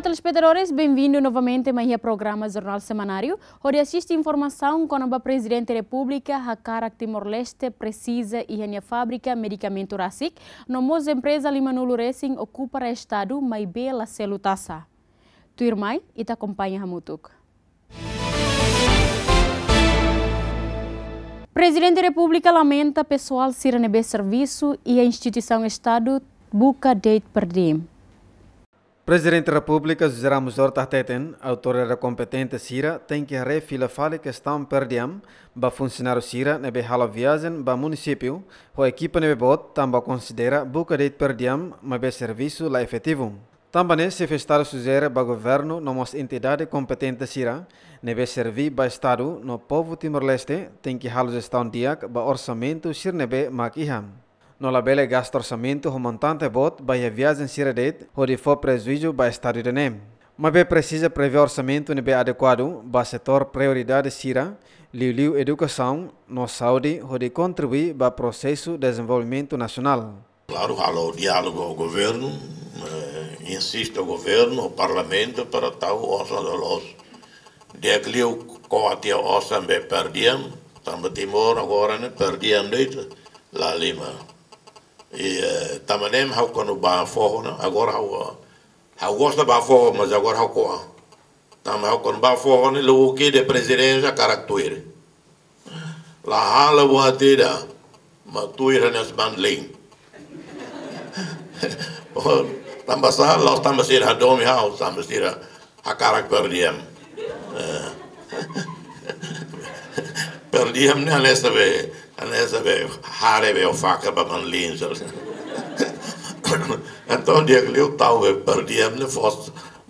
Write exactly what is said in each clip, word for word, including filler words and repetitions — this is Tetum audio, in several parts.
Telespetadores, benvindu novamente mai iha programa Jornál Semanáriu, hodi asiste informasaun kona-ba Prezidente Repúblika hakarak Timor-Leste presiza iha nia fábrika medikamentu rasik, no mós empreza lima-nulu resin okupa Estadu maibé la selu taxa. Tuirmai, ita akompaña hamutuk. Prezidente Repúblika lamenta pesoál sira ne'ebé servisu iha instituisaun Estadu buka de'it per diem. Prezidente Repúblika José Ramos Horta hateten, autoridade kompetente sira tenke haree fila fali kestaun per diem ba funsionáriu sira ne'ebé halo viajen ba munisípiu ho ekipa ne'ebé boot, tanba konsidera buka de'it per diem maibé servisu la efetivu. Tanba ne'e, Xefe Estadu sujere ba governu no mós entidade kompetente sira ne'ebé serví ba Estadu no povu Timor-Leste tenke halo jestaun di'ak ba orsamentu sira ne'ebé mak iha. No labele gasta orsamentu ho montante boot ba iha viajen sira de'it hodi fó prejuízu ba Estadu ida-ne'e. Maibé presiza prevee orsamentu ne'ebé adekuadu ba setór prioridade sira, liuliu edukasaun no saúde, hodi kontribui ba prosesu dezenvolvimentu nasionál. Klaru, halo diálogu ho governu, eh, insiste ho governu, ho parlamentu, para tau osan loloos. Di'ak liu ko'a tiha osan be per diem, tanba Timor agora ne'e per diem de'it la lima. I, eh, tanba ne'e ha'u kuandu bá foho ona, agora ha'u, ha'u gosta bá foho, mas agora ha'u ko'a. Tanba ha'u kuandu bá foho ne'e, lubuk ida prezidénsia hakarak tuir. La halo buat ida, mak tuir hanesan manlin. Oh, tanba sá, la'ós tanba sira hadomi ha'u, tanba sira hakarak per diem. Eh. Per diem ne'e hanesan be, hanesan be haree be o faka ba manlin, sá. Entaun, di'ak liu tau be per diem ne'e fó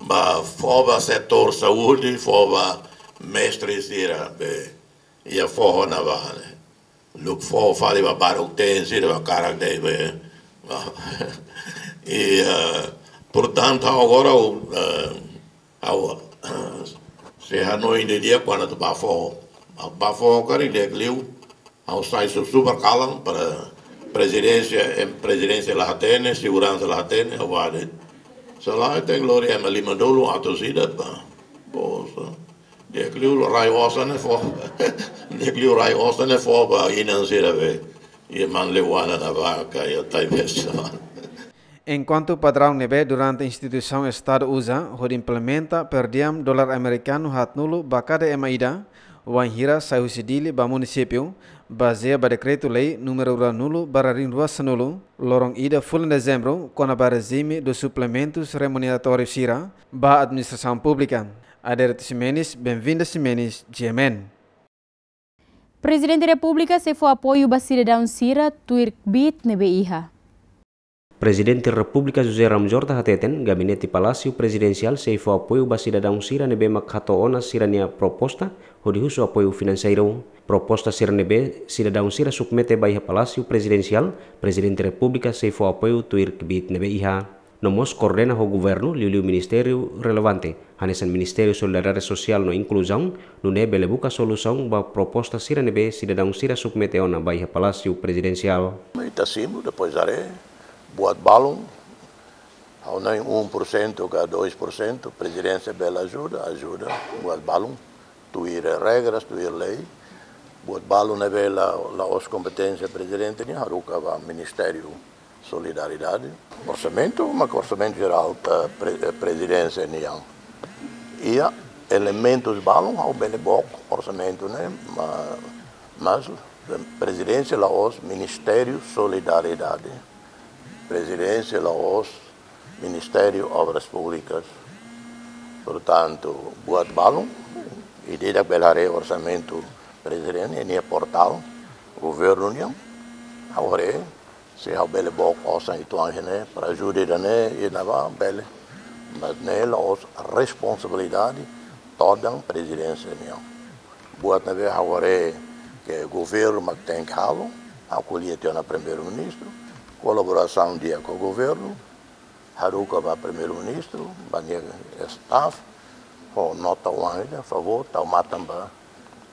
ba, fó ba setór saúde, fó ba mestre sira be iha foho ne'ebá ne'e. Luk foho fali ba baruk-teen sira be hakarak de'it be. I, eh, portantu, agora ha'u, eh, ha'u, se hanoin didi'ak kuandu atu bá foho. Bá foho karik di'ak liu, ha'u sai su-, super kalan para prezidénsia, em, prezidénsia la hatene, seguransa la hatene, ha'u bá de'it. Se lae tenke lori ema lima-nulu atus ida bá. Poxa. Di'ak liu rai osan ne'e fó. Di'ak liu rai osan ne'e fó ba inan sira be. Iha Manleuana, Nabaka, iha Taibesi. Enkuantu padraun ne'ebé durante instituisaun Estadu uza hodi implementa per diem dolar amerikanu haatnulu ba kada ema ida, wainhira sai husi Dili ba munisípiu, bazeia ba dekretu-lei númeru ruanulu barra rihun rua sanulu, loron ida fulan Dezembru, kona-ba rejime dos suplementos remuneratórios sira ba administrasaun públika. Adérito Ximenes, Benvinda Ximenes, G M N. Prezidente Repúblika sei fó apoiu ba sidadaun sira tuir kbiit ne'ebé iha. Prezidente Repúblika José Ramos Horta hateten, Gabinete Palásiu Prezidensiál sei fó apoiu ba sidadaun sira ne'ebé mak hato'o ona sira-nia proposta hodi husu apoiu finanseiru. Proposta sira ne'ebé sidadaun sira submete ba iha Palásiu Prezidensiál, Prezidente Repúblika sei fó apoiu tuir kbiit ne'ebé iha. No mós koordena ho governu, liuliu ministériu relevante, hanesan Ministériu Solidariedade Sosiál no Inkluzaun, nune'e bele buka solusaun ba proposta sira ne'ebé sidadaun sira submete ona ba iha Palásiu Prezidensiál. Ita simu, depois haree, buat balun, ha'u hanoin um por cento ka dois por cento, prezidénsia bele ajuda, ajuda, buat balun, tuir regras, tuir lei, buat balun ne'ebé la, la'ós kompeténsia prezidente nian, haruka ba Ministériu Solidariedade. Orsamentu, mak orsamentu jerál, eh, pre-, eh, prezidénsia nian. Iha elementus balun ha'u bele book orsamentu ne'e, ma-, mas, eh, prezidénsia la'ós Ministériu Solidariedade. Prezidénsia la'ós Ministériu Obras Públikas. Portantu, buat balun, ida-idak bele haree orsamentu prezidente, iha nia portál governu nian, ha'u haree, se ha'u bele book osan uitoan iha ne'e, para ajuda ida-ne'e, ida-ne'ebá, bele. Mas ne'e la'ós responsabilidade todan prezidénsia nian. Buat ne'ebé ha'u haree ke governu mak tenke halo, ha'u ko'alia tiha ona Primeiru-Ministru, kolaborasaun di'ak ho governu, haruka ba Primeiru-Ministru, ba nia staff, ho nota oan ida, favór, tau matan ba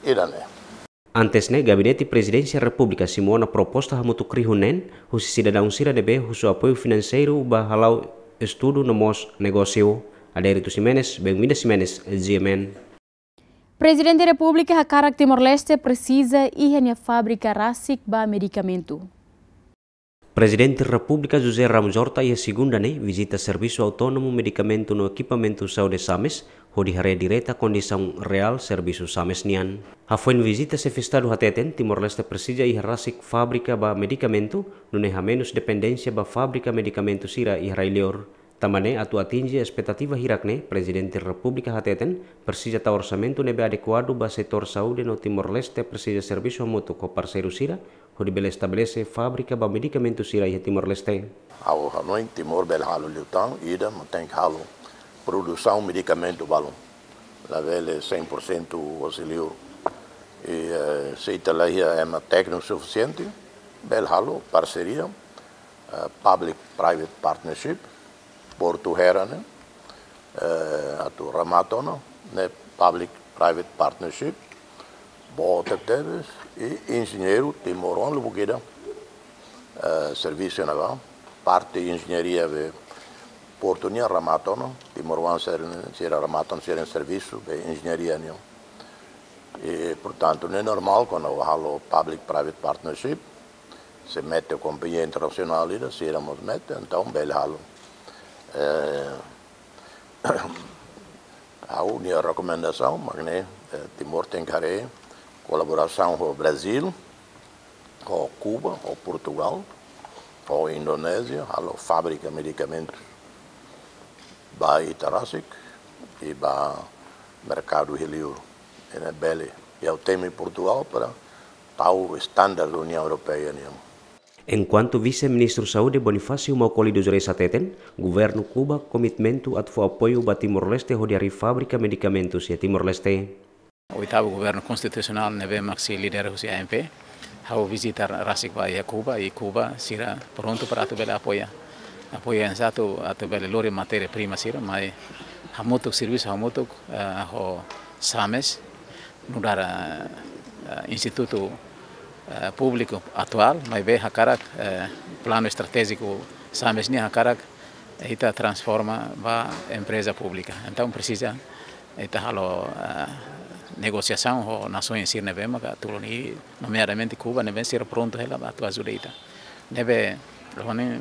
ida-ne'e. Antes ne'e, Gabinete Prezidénsia Repúblika simu ona proposta hamutuk rihun neen, husi sidadaun sira ne'ebé husu apoiu finanseiru ba hala'o estudu no mós negósiu. Adérito Ximenes, Benvinda Ximenes, G M N. Prezidente Repúblika hakarak Timor-Leste presiza iha nia fábrika rasik ba medikamentu. Prezidente Repúblika José Ramos Horta iha segunda ne'e vizita Servisu Autónomu Medikamentu no Ekipamentu Saúde SAMES, hodi haree direta kondisaun reál servisu SAMES nian. Hafoin vizita, Xefe Estadu hateten Timor-Leste presiza iha rasik fábrika ba medikamentu, nune'e hamenus dependénsia ba fábrika medikamentu sira iha rai-liur. Tanba ne'e, atu atinje espetativa hirak ne'e, Prezidente Repúblika hateten presiza tau orsamentu ne'ebé adekuadu ba setór saúde no Timor-Leste presiza servisu hamutuk ho parseiru sira, hodi bele estabelese fábrika ba medikamentu sira iha Timor-Leste. Ha'u hanoin Timor bele halo liután, ida, mas tenke halo produsaun medikamentu balun. Labele cem por cento hosi liur. I, eh, se ita la iha ema tékniku sufisiente, bele halo parseria, eh, public private partnership, Portu Hera ne'e, eh, atu remata ona, ne'e public private partnership, boot tebes, i enjeñeiru timoroan lubuk ida, eh, servisu ne'ebá, parte enjeñaria be portu nian remata ona, timoroan sira, sira remata ona sira-nia servisu be enjeñaria nian. I, portantu, ne'e normál, kuandu halo public private partnership, se mete kompañia internasionál ida, sira mós mete, entaun bele halo. Eh, ha'u-nia rekomendasaun mak ne'e, eh, Timor tenke haree kolaborasaun ho Brazíl, ho Kuba, ho Portugál, ho Indonézia, halo fábrika medikamentu ba ita rasik, i ba merkadu iha liur. Ne'e bele, i ha'u temi Portugál para tau standar Uniaun Europeia nian. Enkuantu Vise-Ministru Saúde Bonifácio Maukoli dos Reis hateten, governu Kuba komitmentu atu fó apoiu ba Timor-Leste hodi harii fábrika medikamentu iha Timor-Leste. Oitavu Governu Konstitusionál ne'ebé mak sei lidera husi A M P, ha'u vizita rasik ba iha Kuba, i Kuba sira prontu para atu bele apoia. Apoia oinsá atu, atu bele lori matéria prima sira, mai hamutuk servisu hamutuk, eh, ho SAMES, nu'udar, eh, eh, institutu, eh, públiku atuál, maibé hakarak, eh, planu estratéjiku SAMES nian hakarak, eh, ita transforma ba empreza públika. Entaun presiza ita halo, eh, negosiasaun ho nasoens sira ne'ebé maka tulun, i nomeadamente Kuba ne'ebé sira prontu hela atu ajuda ita. Ne'ebé, loron ne'e,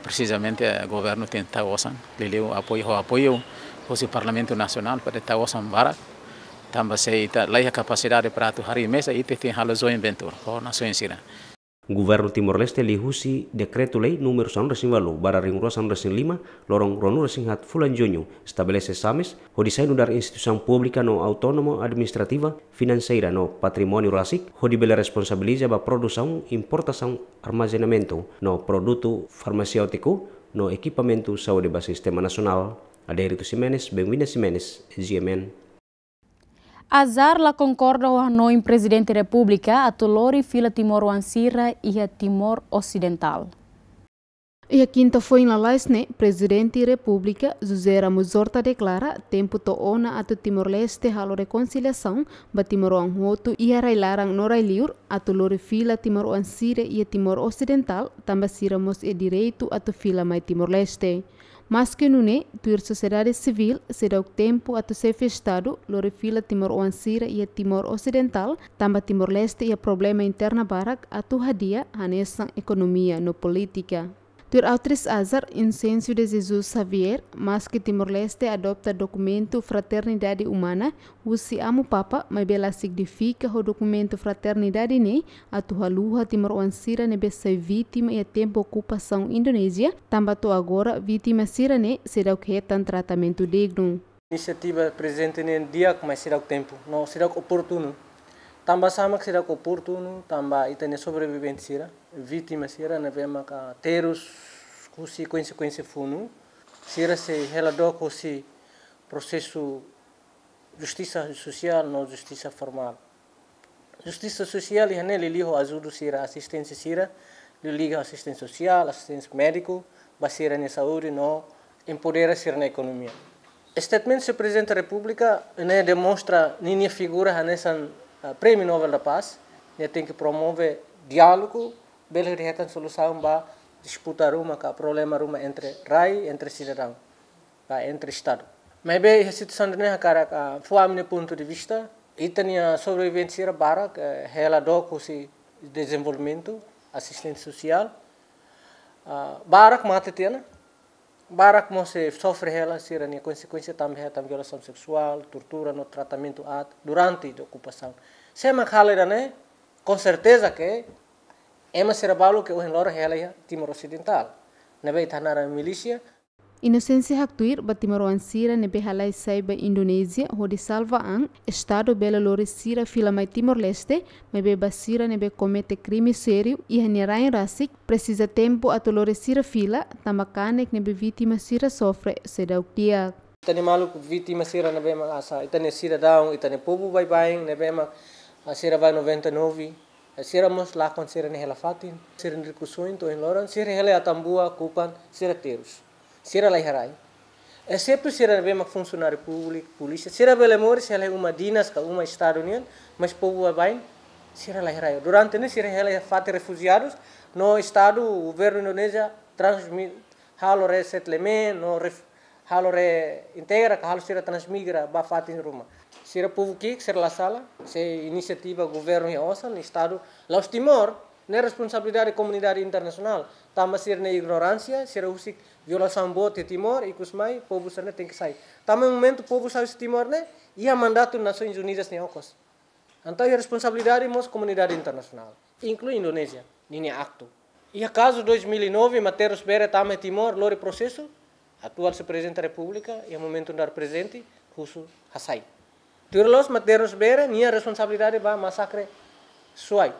presizamente, eh, governu tenke tau osan, liuliu apoiu, ho apoiu husi Parlamentu Nasionál para tau osan barak, tanba se ita la iha kapasidade para atu harii meza, ita tenke halo joint venture ho nasoens sira. Governu Timor-Leste liuhusi Dekretu-Lei númeru sanulu-resin-ualu barra rihun rua sanulu-resin-lima, loron ruanulu-resin-haat fulan Juñu, estabelese SAMES, hodi sai nu'udar instituisaun públika no autónoma administrativa, finanseira no patrimóniu rasik, hodi bele responsabiliza ba produsaun, importasaun, armazenamentu no produtu farmaseútiku no ekipamentu saúde ba sistema nasionál. Adérito Ximenes, Benvinda Ximenes, G M N. Azar la konkorda ho hanoin Prezidente Repúblika atu lori fila timoroan sira iha Timor Osidentál. Iha kinta foin lalais ne'e, Prezidente Repúblika José Ramos Horta deklara tempu to'o ona atu Timor-Leste halo rekonsiliasaun ba timoroan hotu iha rai-laran no rai-liur, atu lori fila timoroan sira iha Timor Osidentál, tanba sira mós iha direitu atu fila mai Timor-Leste. Maske nune'e, tuir sosiedade sivíl, seidauk tempu atu Xefe Estadu lori fila timoroan sira iha Timor Osidentál, tanba Timor-Leste iha problema interna barak atu hadi'a, hanesan ekonomia no polítika. Tuir Autris Azar, Inséncio de Jesus Xavier, maske Timor-Leste adota dokumentu fraternidade umana husi Amu Papa, maibé la signifika ho dokumentu fraternidade ne'e atu haluha timoroan sira ne'ebé sai vítima iha tempu okupasaun Indonézia, tanba to'o agora vítima sira ne'e seidauk hetan tratamentu dignu. Inisiativa prezente ne'e di'ak, mas seidauk tempu, no seidauk oportunu. Tanba sá mak seidauk oportunu? Tanba ita-nia sobrevivente sira, vítima sira ne'ebé maka terus husi konsekuénsia funu, sira sei hela dook husi prosesu justisa sosiál no justisa formál. Justisa sosiál iha ne'e liuliu ho ajuda sira, asisténsia sira, liuliu asisténsia sosiál, asisténsia médiku, ba sira-nia saúde no empodera sira-nia ekonomia. Statement husi Prezidente Repúblika ne'e demonstra ninia figura hanesan, ah, Prémiu Nobel da Paz, nia tenke promove diálogu, bele hetan solusaun ba disputa ruma ka problema ruma entre rai, entre sidadaun, ka entre Estadu. Maibé iha situasaun ne'e hakarak, ah, fó ami-nia pontu de vista, ita-nia sobrevivente sira barak, eh, hela dook husi dezenvolvimentu, asisténsia sosiál, ah, barak mate tiha ona, barak mós sei sofre hela sira-nia konsekuénsia tanba hetan violasaun seksuál, tortura no tratamentu aat durante de okupasaun. Se ema halo ida-ne'e, com certeza que ema sira balu ke ohin loron hela iha Timor Osidentál, ne'ebé ita hanaran milísia. Inosénsia haktuir ba timoroan sira ne'ebé halai sai ba Indonézia hodi salva an, Estadu bele lori sira fila mai Timor-Leste, maibé ba sira ne'ebé komete krime sériu iha nia rain rasik, presiza tempu atu lori sira fila, tanba kanek ne'ebé vítima sira sofre seidauk di'ak. Ita-nia maluk vítima sira ne'ebé mak asa, ita-nia sidadaun, ita-nia povu baibain ne'ebé mak, ah, sira ba noventa e nove, sira mós lakon sira-nia hela-fatin, sira-nia rikusoin to'o ohin loron, sira hela iha Atambua, Kupang, sira terus. Sira la iha rai. Exetu sira ne'ebé mak funsionáriu públiku, polísia, sira bele moris hela iha uma dinas ka uma Estadu nian, mas povu baibain, sira la iha rai. Durante ne'e sira hela iha fatin refujiadus, no Estadu, governu Indonézia, transmi-, halo resettlement, no ref-, halo reintegra, ka halo sira transmigra ba fatin ruma. Sira povu ki'ik, sira la sala, se inisiativa governu iha osan, Estadu, la'ós Timor, ne'e responsabilidade komunidade internasionál. Tanba sira-nia ignoránsia, sira husik violasaun boot iha Timor, ikus mai, povu sira-ne'e tenke sai. Tanba momentu povu sai husi Timor ne'e, iha mandatu Nasoins Unidas nia okos. Entaun iha responsabilidade mós komunidade internasionál, inklui Indonézia, ninia aktu. Iha kazu dois mil e nove, Mateus Bere tama iha Timor, lori prosesu, atuál señór Prezidente Repúblika, iha momentu nu'udar prezidente, husu hasai. Tuir loloos Mateus Bere, nia responsabilidade ba masakre Suai.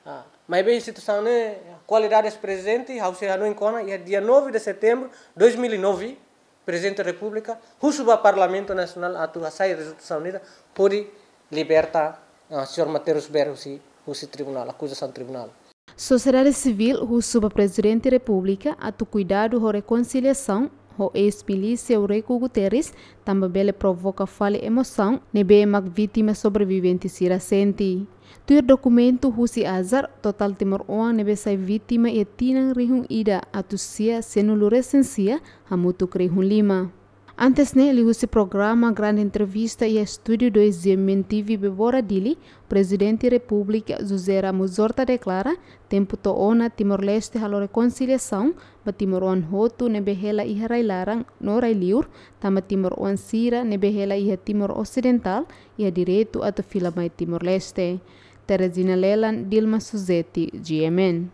Ah, maibé situasaun ne'e, kualidade prezidente, ha'u sei hanoin kona, iha dia nove de setembro dois mil e nove, Prezidente Repúblika husu ba Parlamentu Nasionál atu hasai rezolusaun ida hodi liberta, ah, señór Mateus Bere husi, husi tribunál, akuzasaun tribunál. Sosiedade sivíl husu ba Prezidente Repúblika atu kuidadu ho rekonsiliasaun ho eis-milísia Eurico Guterres, tanba bele provoka fali emosaun ne'ebé mak vítima sobrevivente sira sente. Tuir dokumentu husi ASAR, totál timoroan ne'ebé sai vítima iha tinan rihun ida atus sia sianulu-resin-sia, hamutuk rihun lima. Antes ne'e, liuhusi programa Grande Entrevista iha estúdiu dois GMN TV Bebora Dili, Prezidente Repúblika José Ramos Horta deklara, tempu to'o ona Timor-Leste halo rekonsiliasaun ba timoroan hotu ne'ebé hela iha rai-laran no rai-liur, tanba timoroan sira ne'ebé hela iha Timor Osidentál iha direitu atu fila mai Timor-Leste. Teresina Lelan, Dilma Suzeti, GMN.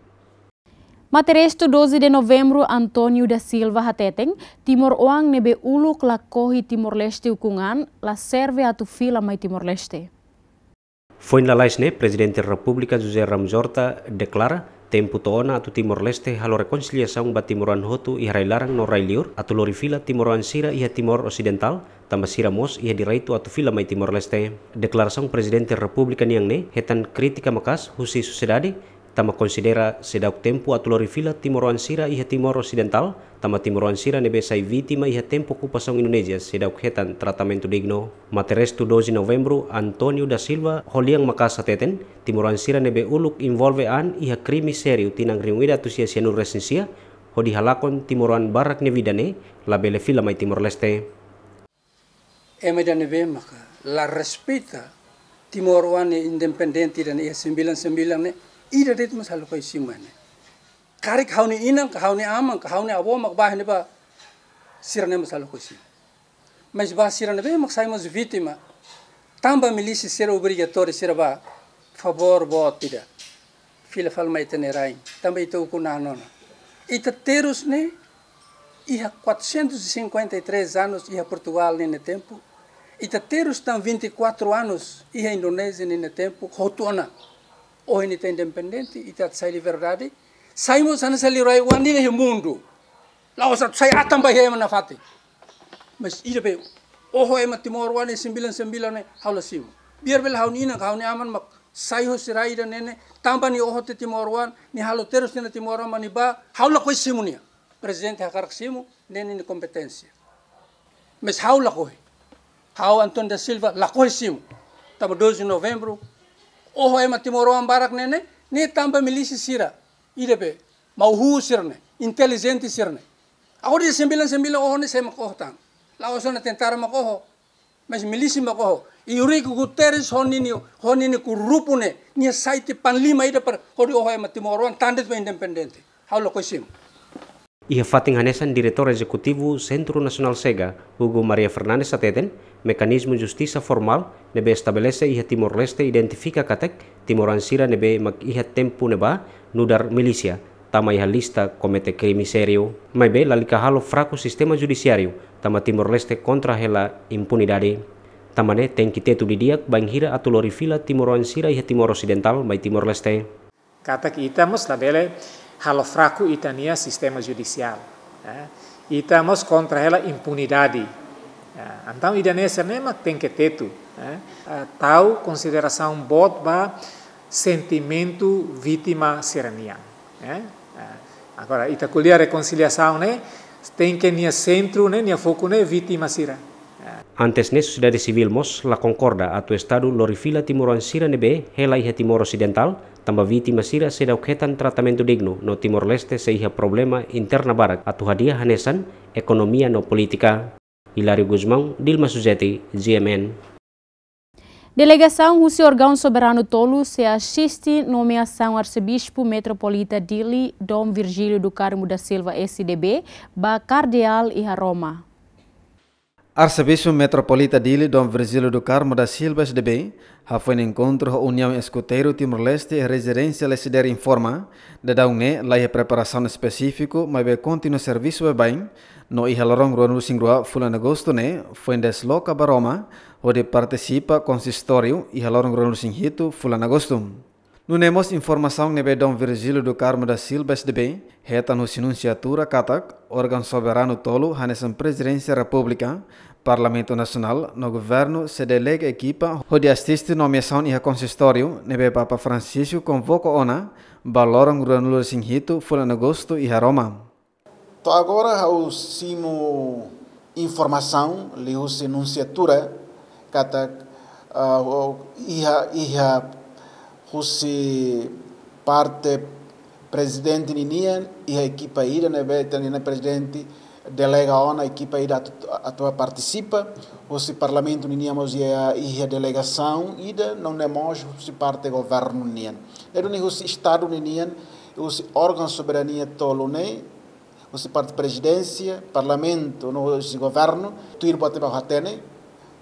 Materestu doze de Novembru, António da Silva hateten, timoroan ne'ebé uluk lakohi Timor-Leste ukun an, la serve atu fila mai Timor-Leste. Foin lalais ne'e, Prezidente Repúblika José Ramos Horta deklara, tempu to'o ona atu Timor-Leste halo rekonsiliasaun ba timoroan hotu iha rai-laran no rai-liur, atu lori fila timoroan sira iha Timor Osidentál, tanba sira mós iha direitu atu fila mai Timor-Leste. Deklarasaun Prezidente Repúblika nian ne'e hetan krítika maka'as husi sosiedade, tanba konsidera seidauk tempu atu lori fila timoroan sira iha Timor Osidentál, tanba timoroan sira ne'ebé sai vítima iha tempu okupasaun Indonézia seidauk hetan tratamentu dignu. Materestu doze Novembru, António da Silva ho lian maka'as hateten, timoroan sira ne'ebé uluk envolve an iha krime sériu tinan rihun ida atus sia sianulu-resin-sia, hodi halakon timoroan barak nia vida ne'e, labele fila mai Timor-Leste. Ema ida ne'ebé maka la respeita timoroan nia independente ida ne'e iha sembilan sembilan ne'e, ida de'it mós halo koisima ne'e. Karik ha'u-nia inan, ka ha'u-nia aman, ka ha'u-nia avó mak bá ne'ebá, sira-ne'e mós halo koisima. Mas ba sira ne'ebé mak sai mós vítima, tanba milísia sira obrigatóriu sira bá, favór boot ida. Fila fali mai ita-nia rain, tanba ita ukun an ona. Ita terus ne'e iha quatrocentos e cinquenta e três anos iha Portugal ninia tempu. Ita terus tan vinte e quatro anos iha Indonézia ninia tempu, hotu ona. Ohin ita independente, ita sai liberdade. Sai mós hanesan liurai oan ida iha mundu. La'ós atu sai atan ba iha ema nafatin. Mas ida be, oho ema timoroan ne'e sembilan sembilan ne'e ha'u la simu. Biar bele ha'u-nia inan, ha'u-nia aman mak sai husi rai ida ne'e ne'e, tanba nia oho tiha timoroan, nia halo terus tiha ona timoroan mak nia bá, ha'u lakohi simu nia. Prezidente hakarak simu, ne'e nia kompeténsia. Mas ha'u lakohi. Ha'u António da Silva lakohi simu. Tanba doze de Novembru, oho ema timoroan barak ne'e ne'e, ne'e tanba milísia sira. Ida be, mau-huu sira-ne'e, intelijente sira-ne'e. Agora dia sembilan sembilan oho ne'e sé mak oho tan. La'ós ona tentara mak oho, mas milísia mak oho. I Eurico Guterres ho ninia, ho ninia grupu ne'e, nia sai tiha panglima ida para hodi oho ema timoroan tan de'it ba independente. Ha'u lakohi simu. Iha fatin hanesan, Diretór Ezekutivu Sentru Nasionál Chega, Hugo Maria Fernandes hateten, mekanizmu justisa formál ne'ebé estabelese iha Timor-Leste identifika katak timoroan sira ne'ebé mak iha tempu ne'ebá nu'udar milísia tama iha lista komete krime sériu. Maibé lalika halo fraku sistema judisiáriu, tanba Timor-Leste kontra hela impunidade. Tanba ne'e tenke tetu didi'ak bainhira atu lori fila timoroan sira iha Timor Osidentál mai Timor-Leste. Katak ita mós labele halo fraku ita-nia sistema judisiál, eh. Ita mós kontra hela impunidade. Eh, entaun ida-ne'e sira-ne'e mak tenke tetu, eh. Eh, tau konsiderasaun boot ba sentimentu vítima sira-nian, eh. Eh, agora, ita ko'alia rekonsiliasaun ne'e, tenke nia sentru ne'e, nia foku ne'e vítima sira. Antes ne'e, sosiedade sivíl mós la konkorda atu Estadu lori fila timoroan sira ne'ebé hela iha Timor Osidentál, tanba vítima sira seidauk hetan tratamentu dignu no Timor-Leste sei iha problema interna barak atu hadi'a hanesan ekonomia no polítika. Hilário Gusmão, Dilma Suzeti, G M N. Delegasaun husi órgaun soberanu tolu sei asiste nomeasaun Arsebispu Metropolita Dili, Dom Virgílio do Carmo da Silva, S D B, ba Kardeál iha Roma. Arsebispu Metropolita Dili, Dom Virgílio do Carmo da Silva, S D B, hafoin enkontru ho Uniaun Eskuteiru Timor-Leste iha rezidénsia Lecidere informa, daudaun ne'e la iha preparasaun espesífiku, maibé kontinua servisu baibain, no iha loron ruanulu-resin-rua fulan Agostu ne'e, foin desloka ba Roma, hodi partisipa konsistóriu iha loron ruanulu-resin-hitu fulan Agostu. Nune'e mós informasaun ne'ebé Dom Virgílio do Carmo da Silva, S D B, hetan husi nunsiatura katak órgaun soberanu tolu hanesan Prezidénsia Repúblika, Parlamentu Nasionál no Governu sei delega ekipa hodi asiste nomeasaun iha konsistóriu ne'ebé Papa Francisco konvoka ona ba loron ruanulu-resin-hitu fulan Agostu iha Roma. To'o agora ha'u simu informasaun liuhusi nunsiatura katak, ah, iha, iha husi parte prezidente ninian, iha ekipa ida ne'ebé ita-nia prezidente delega ona ekipa ida atu, atu partisipa, husi parlamentu ninian mós iha, iha delegasaun ida, nune'e mós husi parte governu nian. Ne'e duni husi Estadu ninian, husi órgaun soberania tolu ne'e, husi parte prezidénsia, parlamentu, no husi governu, tuir bote ba hatene,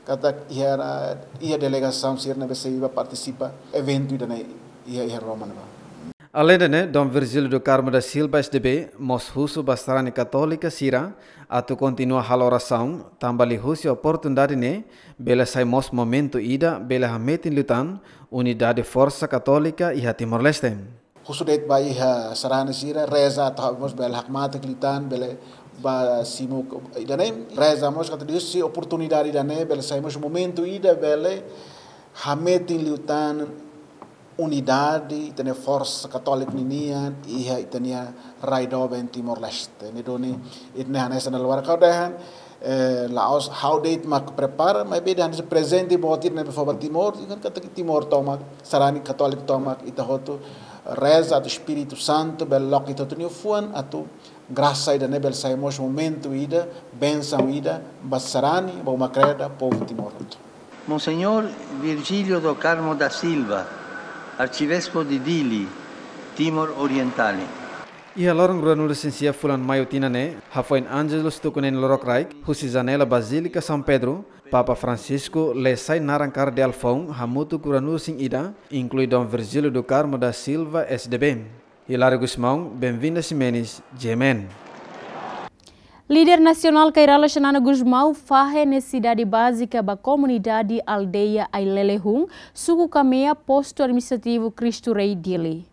katak iha, iha delegasaun sira ne'ebé sei bá partisipa eventu ida-ne'e iha, iha Roma ne'ebá. Aleinde ne'e, Dom Virgílio do Carmo da Silva, S D B, mós husu ba sarani katólika sira atu kontinua halo orasaun, tanba liuhusi oportunidade ne'e, bele sai mós momentu ida, bele hametin liután unidade forsa katólika iha Timor-Leste. Husu de'it ba iha sarani sira, reza atu mós bele hakmatek liután, bele bá simu ida-ne'e, reza mós katak liuhusi oportunidade ida-ne'e, bele sai mós momentu ida, bele hametin liután unidade, ita-nia forsa katólika ninian, iha ita-nia rai doben Timor-Leste. Ne'e duni, ita-nia hanesan na luar kau dehan, eh, la'ós ha'u de'it mak prepara, maibé dehan prezente boot ida ne'ebé fó ba Timor, i kan katak Timor tomak, sarani katólika tomak, ita hotu reza atu Espíritu Santu bele loke ita hotu nia fuan, atu grasa ida-ne'e bele sai mós momentu ida, bensaun ida, ba sarani, ba uma kreda, povu Timor hotu. Monseñór Virgílio do Carmo da Silva, Arcebispo de Dili, Timor Oriental. Iha loron ruanulu-resin-sia fulan Maiu tinan ne'e, hafoin Ángelus tuku neen lorokraik, husi janela Bazílika São Pedro, Papa Francisco lee sai naran kardeál foun hamutuk ruanulu-resin-ida, inklui Dom Virgílio do Carmo da Silva, S D B. Hilário Gusmão, Benvinda Ximenes, G M N. Líder nasionál Kay Rala Xanana Gusmão fahe nesesidade bázika ba komunidade aldeia Ailelehun, suku Kamea, postu administrativu Cristo Rei, Dili.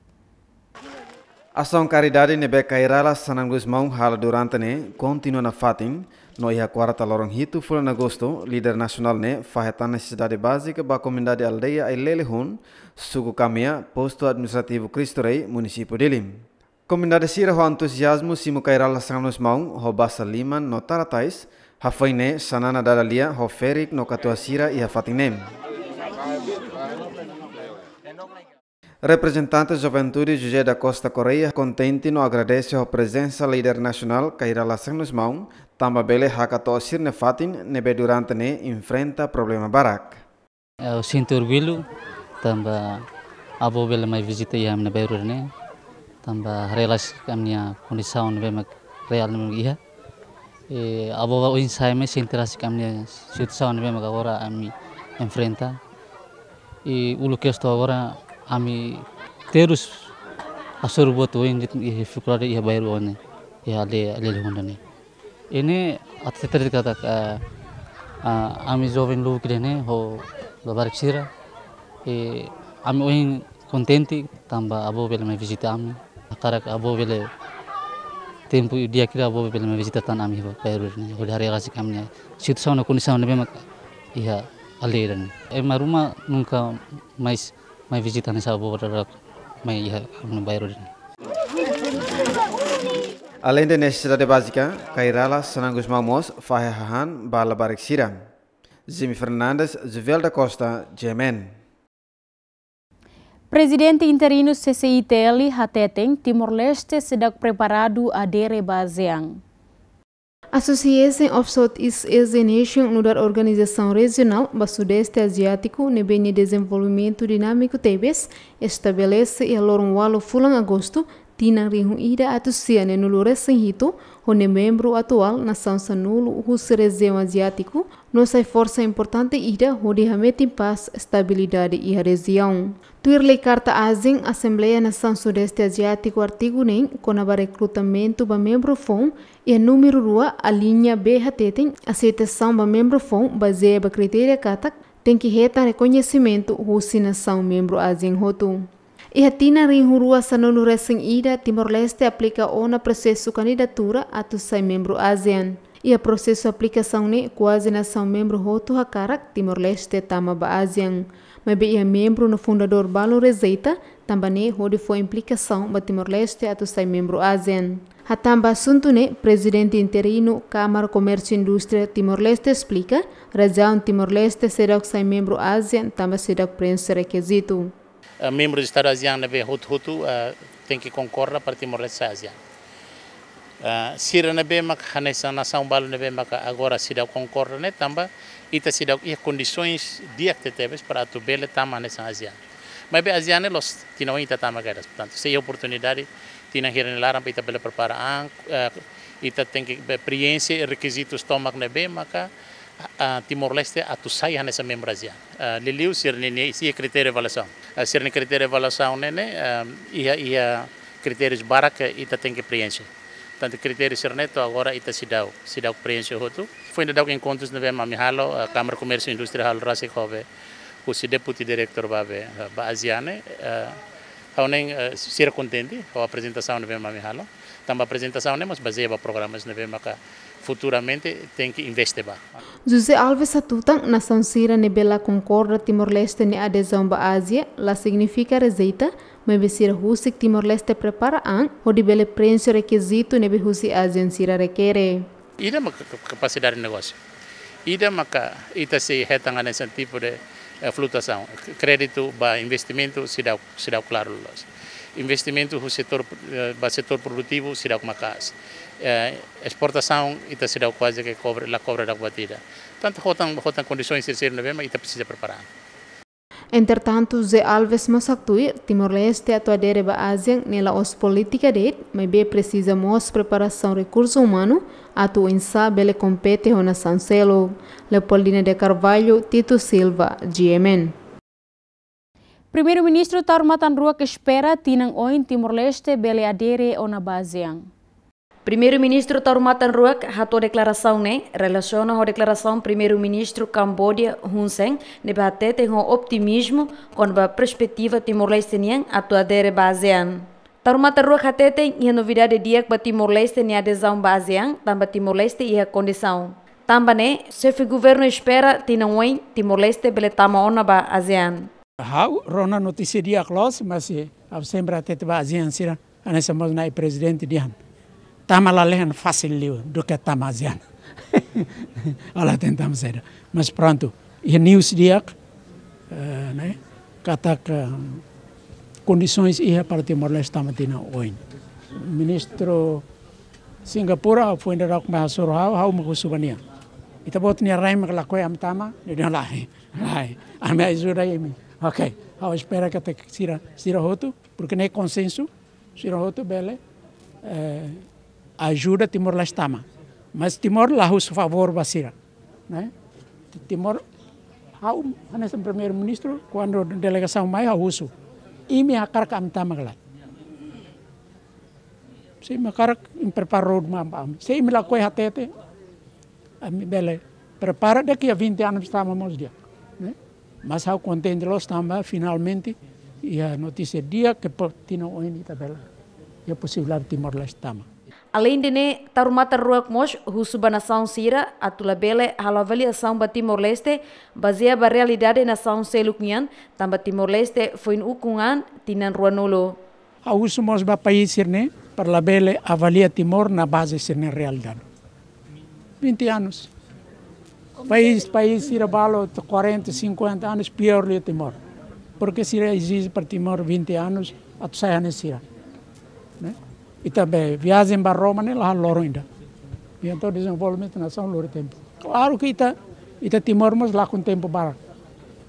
Asaun karidade ne'ebé Kay Rala Xanana Gusmão halo durante ne'e kontinua nafatin, no iha kuarta loron hitu fulan Agostu, líder nasionál ne'e fahe tan nesesidade bázika ba komunidade aldeia Ailelehun, suku Kamea, postu administrativu Cristo Rei, munisípiu Dili. Komunidade sira ho entuziazmu simu Kay Rala Xanana Gusmão ho basa liman no tara tais, hafoin ne'e Xanana dada lia ho ferik no katuas sira iha fatin ne'e. Reprezentante Juventude José da Costa Correia kontente no agradese ho prezensa líder nasionál Kay Rala Xanusmaun, tanba bele hakato'o sira-nia fatin ne'ebé durante ne'e enfrenta problema barak. Eu sinto orgulho, tanba avó bele mai vizita iha ami-nia bairru ne'e, tanba haree rasik ami-nia kondisaun ne'ebé mak reál ne'ebé mak iha. E, avó ohin sai mai sente rasik ami-nia situasaun ne'ebé mak agora ami enfrenta. I uluk kedas to'o agora ami terus hasoru buat oioin de'it iha difikuldade iha bairru ne'e, iha aldeia, aldeia Honda ne'e. Ne'e atu hatete katak, ah, ah, ami joven lubuk ida-ne'e ho labarik sira. E, ami ohin kontente tanba avó bele mai vizita ami. Hakarak avó bele tempu di'ak ida avó bele mai vizita tan ami iha bairru ne'e. Hodi haree rasik ami-nia situasaun no kondisaun ne'ebé mak iha aldeia ne'e. Ema ruma nunka mais mai vizita hanesan avó barak mai iha ami-nia bairru ne'e. Aleinde nesesidade bázika, Kay Rala Xanusmaun mós fahe hahán ba labarik sira. Jimmy Fernandes, Juvel da Costa, G M N. Prezidente interinu C C I T L hateten Timor-Leste seidauk preparadu adere ba ASEAN. Association of Southeast Asian Nation nu'udar organizasaun rejionál ba Sudeste Aziátiku ne'ebé nia dezenvolvimentu dinámiku tebes estabelese iha loron ualu fulan Agostu, tinan rihun ida atus sia neenulu resin hitu, ho nia membru atuál nasaun sanulu husi rejiaun aziátiku, no sai forsa importante ida hodi hametin pás, estabilidade iha rejiaun. Tuir lei Karta ASEAN, Asembleia Nasaun Sudeste Aziátiku artigu neen kona-ba rekrutamentu ba membru foun, iha númeru rua, aliña B hateten, aseitasaun ba membru foun bazeia ba kritéria katak tenke hetan rekoñesimentu husi nasaun membru ASEAN hotu. Iha tinan rihun rua sanulu resin ida, Timor-Leste aplika ona prosesu kandidatura atu sai membru ASEAN. Iha prosesu aplikasaun ne'e kuaze nasaun membru hotu hakarak Timor-Leste tama ba ASEAN. Maibé iha membru no fundadór balun rejeita, tanba ne'e hodi fó implikasaun ba Timor-Leste atu sai membru ASEAN. Hatán ba asuntu ne'e, Prezidente interinu Kámara Komérsiu Indústria Timor-Leste esplika, razaun Timor-Leste seidauk sai membru ASEAN tanba seidauk preenxe rekizitu. Eh, membru Estadu ASEAN ne'ebé hotu-hotu, eh, tenke konkorda para Timor-Leste sai ASEAN. Eh, sira ne'ebé mak hanesan nasaun balu ne'ebé mak agora seidauk konkorda ne'e tanba ita seidauk iha kondisoens di'ak tebetebes para atu bele tama hanesan ASEAN. Maibé ASEAN ne'e la'ós tinan oin ita tama kedas. Portantu, sei iha oportunidade tinan hira nia laran para ita bele prepara an, eh, ita tenke be-, preenxe rekizitus tomak ne'ebé maka, ah, Timor-Leste atu sai hanesan membru ASEAN. Ah, liuliu sira-nia, nia, sira kritériu avaliasaun. Ah, sira-nia kritériu avaliasaun ne'e, ne'e, ah, iha, iha kritérius barak ke ita tenke preenxe. Tantu kritériu sira-ne'e to'o agora ita seidauk, seidauk preenxe hotu. Foin daudauk enkontrus ne'ebé mak ami halo, ah, Kámara Komérsiu Indústria halo rasik ho be husi deputi diretór ba be, ah, ba ASEAN ne'e, ah, ha'u hanoin, ah, sira kontente ho aprezentasaun ne'ebé mak ami halo. Tanba aprezentasaun ne'e mós bazeia ba programas ne'ebé maka futuramente tenke investe ba. José Alves hatutan, nasaun sira ne'ebé la konkorda Timor-Leste nia adezaun ba ASEAN, la signifika rejeita, maibé sira husik Timor-Leste prepara an, hodi bele preenxe rekizitu ne'ebé husi ASEAN sira rekere. Ida maka ka-, ka-, kapasidade negósiu. Ida maka ita sei hetan hanesan tipu de, eh, flutuasaun. K-, kréditu ba investimentu seidauk, seidauk klaru loos. Investimentu husi setór, eh, ba setór produtivu seidauk maka'as. Eh, esportasaun ita seidauk kuaze ke kobre, la kobre daudauk ba ida. Tantu hotan, hotan kondisoens sira-sira ne'ebé mak ita presiza prepara. Entretantu, José Alves mós haktuir, Timor-Leste atu adere ba ASEAN ne'e la'ós polítika de'it, maibé presiza mós preparasaun rekursu umanu, atu oinsá bele kompete ho nasaun seluk. Leopoldina de Carvalho, Tito Silva, G M N. Primeiru-Ministru Taur Matan Ruak espera tinan oin Timor-Leste bele adere ona ba ASEAN. Primeiru-Ministru Taur Matan Ruak hato'o deklarasaun ne'e relasiona ho deklarasaun Primeiru-Ministru Kamboja Hun Sen ne'ebé hateten ho optimizmu kona-ba perspetiva Timor-Leste nian atu adere ba ASEAN. Taur Matan Ruak hateten iha novidade di'ak ba Timor-Leste nia adezaun ba ASEAN, tanba Timor-Leste iha kondisaun. Tanba ne'e, xefe governu espera tinan oin Timor-Leste bele tama ona ba ASEAN. Ha'u rona notísia di'ak loos, mas, eh, ha'u sempre hatete ba ASEAN sira, hanesan mós nai prezidente dehan. Tama lalehan fasil liu duké tama ASEAN. Ha'u la hatene tama saida. Mas prontu, iha news di'ak, eh, ne'e, katak, eh, Kondisoens iha para Timor-Leste tama tinan oin. Ministru Singapura, foin daudauk mai hasoru ha'u, ha'u mak husu ba nia. Ita-boot nia rai mak lakohi ami tama, nia dehan lae, lae. Ami ajuda imi. Ok, ha'u espera katak sira, sira hotu, porque ne'e konsensu, sira hotu bele, eh, ajuda Timor-Leste tama. Mas Timor la husu favór ba sira, ne'e? Timor, ha'u, hanesan Primeiru-Ministru, kuandu delegasaun mai, ha'u husu. Imi hakarak ami tama ka lae? Se imi hakarak, imi prepara roadmap ba ami. Se imi lakohi hatete, ami bele prepara, daqui a vinte anos tama mós di'ak, ne'e? Mas ha'u kontente loos tanba finalmente iha notísia di'ak ke po-, tinan oin ita bele iha posibilidade Timor-Leste tama. Aleinde ne'e, Taur Matan Ruak mós husu ba nasaun sira atu labele halo avaliasaun ba Timor-Leste bazeia ba realidade nasaun seluk nian, tanba Timor-Leste foin ukun an tinan ruanulu. Ha'u husu mós ba país sira-ne'e para labele avalia Timor na baze sira-nia realidade. Vinte anos. País, país sira balu quarenta, cinquenta anos pior liu Timor. Porque sira ezije para Timor vinte anos atu sai hanesan sira, ne'e? Ita be viajen ba Roma ne'e la loron ida. Entaun dezenvolvimentu nasaun lori tempu. Klaru ke ita, ita Timor mós lakon tempu barak.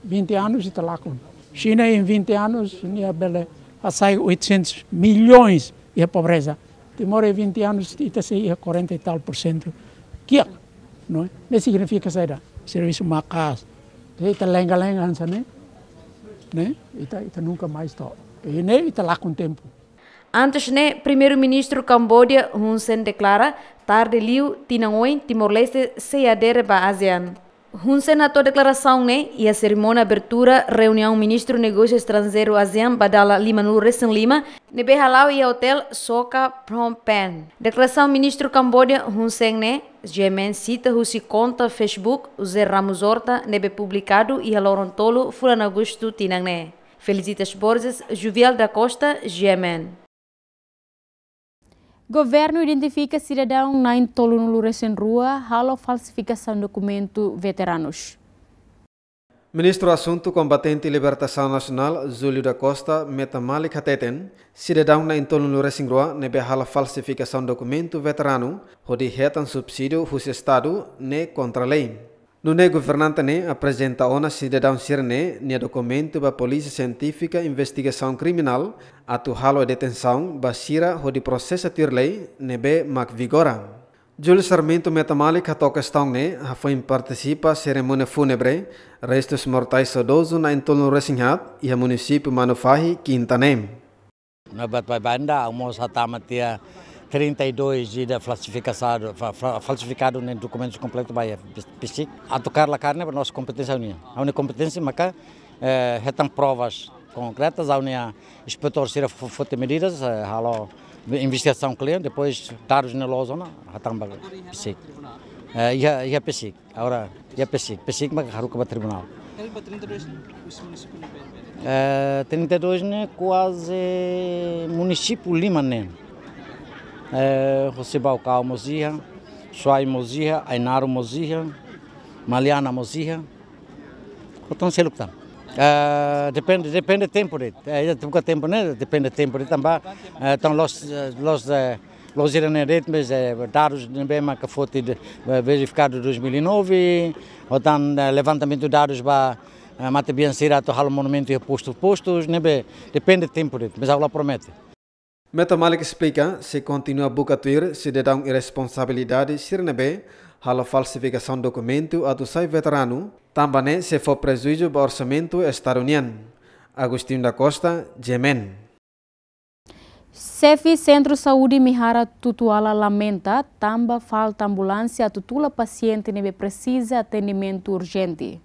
Vinte anos ita lakon. Xina em vinte anos nia bele hasai oitocentos milhões iha pobreza. Timor em vinte anos ita sei iha quarenta e tal por cento kiak, não é? Ne'e signifika saida? Servisu maka'as. Se ita lenga-lenga hanesan ne'e, ne'e? Ita, ita nunka mais to'o. I ne'e ita lakon tempu. Antes ne'e, Primeiru-Ministru Kamboja Hun Sen deklara, tarde liu tinan oin Timor-Leste sei adere ba ASEAN. Hun Sen hato'o deklarasaun ne'e iha serimónia abertura reuniaun Ministru Negósiu Estranjeiru ASEAN ba dala limanulu-resin-lima, ne'ebé hala'o iha Hotel Soka Phnom Penh. Deklarasaun Ministru Kamboja Hun Sen ne'e, G M N sita husi konta Facebook José Ramos Horta ne'ebé publikadu iha loron tolu fulan Agostu tinan ne'e. Felicitas Borges, Juvial da Costa, G M N. Governu identifika sidadaun na'in-tolunulu-resin-rua halo falsifikasaun dokumentu veteranus. Ministru Asuntu Kombatente Libertasaun Nasionál, Júlio da Costa, Meta Malik hateten, sidadaun na'in-tolunulu-resin-rua ne'ebé halo falsifikasaun dokumentu veteranu hodi hetan subsídiu husi Estadu ne'e kontra lei. Nune'e governante ne'e aprezenta ona sidadaun sira-ne'e nia dokumentu ba Polísia Sientífika Investigasaun Kriminál atu halo detensaun ba sira hodi prosesa tuir lei ne'ebé mak vigora. Júlio Sarmento Meta Malik hato'o kestaun ne'e hafoin partisipa serimónia fúnebre restus mortais saudozu na'in-tolunulu-resin-haat iha munisípiu Manufahi, Kinta ne'e. Na bat bai banda, almoço hatama tiha trinta e dois ida falsifikasadu, fa-, fa-, falsifikadu ne'e dokumentus kompletu ba iha PSIC. Atu kaer la kaer ne'e ba nossa kompeténsia nian. Ha'u-nia kompeténsia maka, eh, hetan provas konkretas, ha'u-nia inspetór sira fo-, foti medidas, eh, halo investigasaun kle'an, depois dadus ne'e loos ona, hatama ba PSIC. Eh, iha, iha PSIC. Agora, iha PSIC, PSIC mak haruka ba tribunál. Ne'ebé ba trinta e dois ne'e, husi munisípiu ne'ebé? Eh, trinta e dois ne'e kuaze munisípiu lima ne'e. Eh, husi Baucau mós iha, Suai mós iha, Ainaro mós iha, Maliana mós iha. Entaun seluk tan. Eh, depende, depende tempu de'it. Eh, ita buka tempu ne'e, depende tempu de'it tanba, eh, entaun loos, eh, loos, eh, loos sira-ne'e de'it, mas, eh, dadus ne'ebé maka foti de, eh, verifikadu dois mil e nove, ou entaun, eh, levantamentu dadus ba, eh, matebian sira atu halo monumentu iha postu, postus, ne'ebé depende tempu de'it, mas ha'u la promete. Meta Malik esplika, sei kontinua buka tuir sidadaun irresponsabilidade sira ne'ebé halo falsifikasaun dokumentu atu sai veteranu, tanba ne'e sei fó prejuízu ba orsamentu Estadu nian. Agostinho da Costa, G M N. Xefe Sentru Saúde Mehara Tutuala lamenta tanba falta ambulánsia atu tula pasiente ne'ebé presiza atendimentu urjente.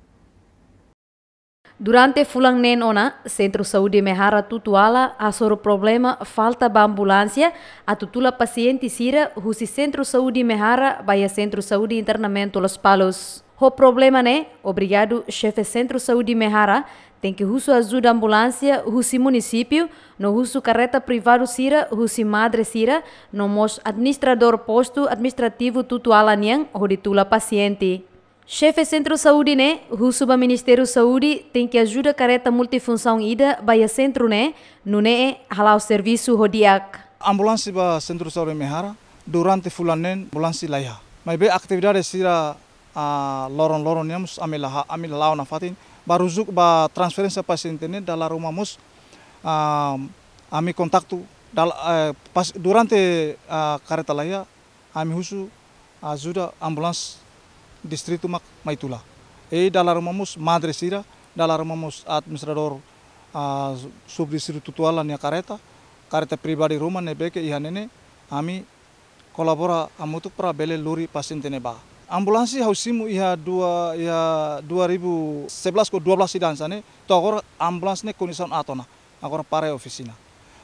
Durante fulan neen ona, Sentru Saúde Mehara Tutuala hasoru problema falta ba ambulánsia atu tula pasiente sira husi Sentru Saúde Mehara ba iha Sentru Saúde Internamentu Lospalos. Ho problema ne'e, obrigadu xefe Sentru Saúde Mehara tenke husu ajuda ambulánsia husi munisípiu, no husu kareta privadu sira husi madre sira, no mós administradór postu administrativu Tutuala nian hodi tula pasiente. Xefe Sentru Saúde ne'e husu ba Ministériu Saúde tenke ajuda kareta multifunsaun ida ba iha sentru ne'e, nune'e hala'o servisu ho di'ak. Ambulánsia ba Sentru Saúde Mehara durante fulan neen ambulánsia laiha. Maibé atividade sira, ah, loron-loron nian mós ami la ha-, ami la la'o nafatin. Ba rujuk ba transferénsia pasiente ne'e dala ruma mós, ah, ami kontaktu dal-, eh, pas, durante, ah, kareta laiha, ami husu ajuda ambulánsia distritu mak mai tula. I dala ruma mós madre sira, dala ruma mós administradór, ah, subdistritu Tutuala nia kareta, kareta pribadi ruma ne'ebé ke iha ne'e ne'e, ami kolabora hamutuk para bele lori pasiente ne'e ba. Ambulánsia ha'u simu iha dua, iha dua ribu sebelas ka dua belas ida hanesan ne'e, to'o agora ambulánsia ne'e kondisaun aat ona. Agora para iha ofisina.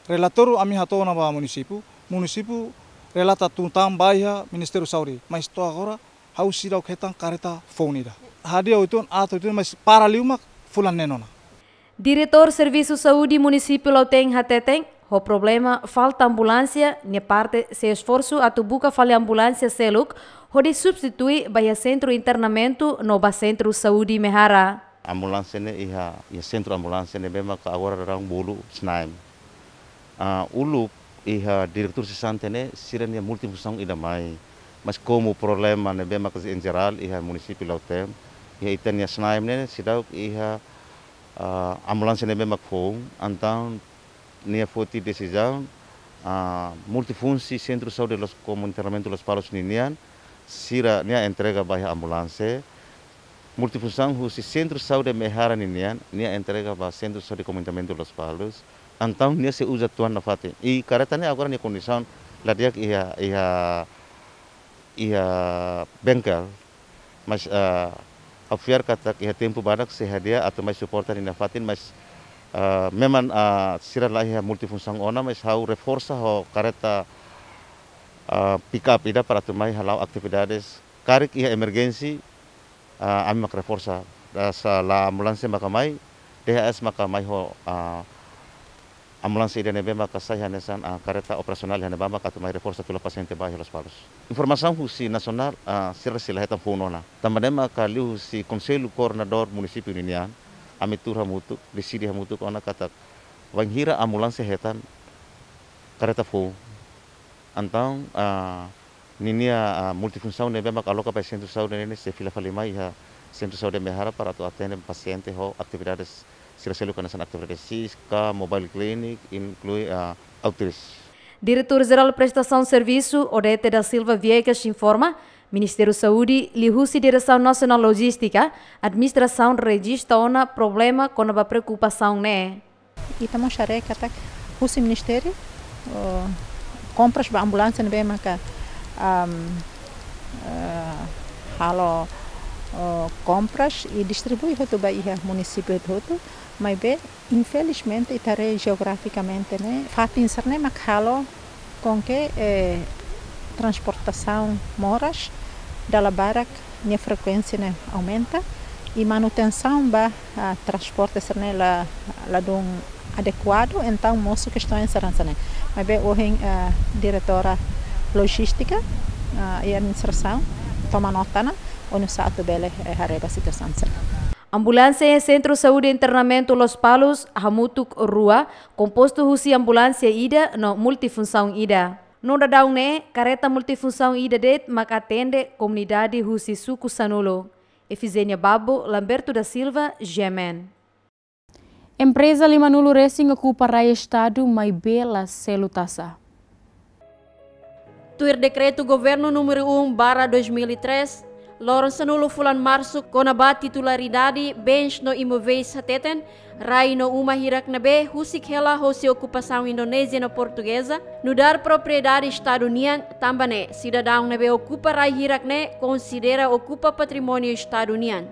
Relatóriu ami hato'o ona ba munisípiu, munisípiu relata tun tan ba iha Ministériu Saúde, mas to'o agora ha'u seidauk hetan kareta foun ida. Hadi'a uitoan, aat uitoan, mas para liu mak fulan neen ona. Diretór Servisu Saúde Munisípiu Lautém hateten, ho problema falta ambulánsia nia parte sei esforsu atu buka fali ambulánsia seluk hodi substitui ba iha sentru internamentu no ba Sentru Saúde Mehara. Ambulánsia ne'e iha, iha sentru ambulánsia ne'ebé maka agora daudaun bolu SNAEM. Ah, uluk iha diretór sesante ne'e sira-nia multifunsaun ida mai. Mas komu problema ne'ebé maka em jerál iha munisípiu Lautém, iha ita-nia SNAEM ne'e seidauk iha, ah, ambulánsia ne'ebé mak foun, entaun nia foti desizaun, ah, multifunsi Sentru Saúde Los, Komunitariu Lospalos ninian, sira-nia entrega ba iha ambulánsia. Multifunsaun husi Sentru Saúde Mehara ninian, nia entrega ba Sentru Saúde Komunitariu Lospalos. Entaun nia sei uza tuan nafatin. I kareta ne'e agora nia kondisaun la di'ak iha, iha, iha bengkel. Mas, ah, ha'u fiar katak iha tempu badak sei hadi'a atu mai suporta nia nafatin, mas, ah, memang, ah, sira laiha multifunsaun ona, mas ha'u reforsa ho kareta, ah, pick up ida para atu mai hala'o atividades. Karik iha emerjensi, ah, ami mak reforsa. Dasa la ambulánsia maka mai, D H S maka mai ho, ah, ambulánsia ida ne'ebé maka sai hanesan, ah, kareta operasionál iha ne'ebá maka atu mai reforsa fila pasiente ba iha Lospalos. Informasaun husi nasionál, ah, sira sei la hetan foun ona. Tanba ne'e maka liuhusi Konsellu Koordenadór Munisípiu ninian, ami tuur hamutuk, deside hamutuk ona katak bainhira ambulánsia hetan kareta foun, entaun, ah, ninia, ah, multifunsaun ne'ebé mak aloka ba Sentru Saúde ne'e sei fila fali mai iha Sentru Saúde Mehara para atu atende pasiente ho atividades sira seluk hanesan atividades SIS ka mobile clinic, inklui, ah, outreach. Diretór Jerál Prestasaun Servisu, Odete da Silva Viegas, informa, Ministériu Saúde, liuhusi Diresaun Nasionál Lojístika, administrasaun rejista ona problema kona-ba preokupasaun ne'e. Ita mós haree katak husi ministériu, eh, kompras ba ambulánsia ne'ebé maka, am, eh, halo, eh, kompras i distribui hotu ba iha munisípiu hotu, maibé infelizmente ita haree jeografikamente ne'e fatin sira-ne'e mak halo com que, eh, transportasaun moras dala barak nia frekuénsia ne'e aumenta i manutensaun ba, ah, transporte sira-ne'e la, ladún adekuadu, entaun mosu kestaun sira hanesan ne'e. Maibé ohin, ah, diretora lojístika, ah, i administrasaun toma nota ona, oinsá atu bele, eh, haree ba situasaun sira-ne'e. Ambulánsia iha Sentru Saúde Internamentu Lospalos hamutuk rua, kompostu husi ambulánsia ida no multifunsaun ida. No daudaun ne'e, kareta multifunsaun ida de'it mak atende komunidade husi suku sanulu. Efizénia Babo, Lamberto da Silva, G M N. Empreza limanulu resin okupa rai Estadu maibé la selu taxa. Tuir Dekretu Governu númeru um barra dois mil e três, loron sanulu fulan Marsu, kona-ba titularidade, bens no imovéis hateten, rai no uma hirak ne'ebé husik hela hosi okupasaun Indonézia no Portugeza, nu'udar propriedade Estadu nian, tanba ne'e sidadaun ne'ebé okupa rai hirak ne'e konsidera okupa patrimóniu Estadu nian.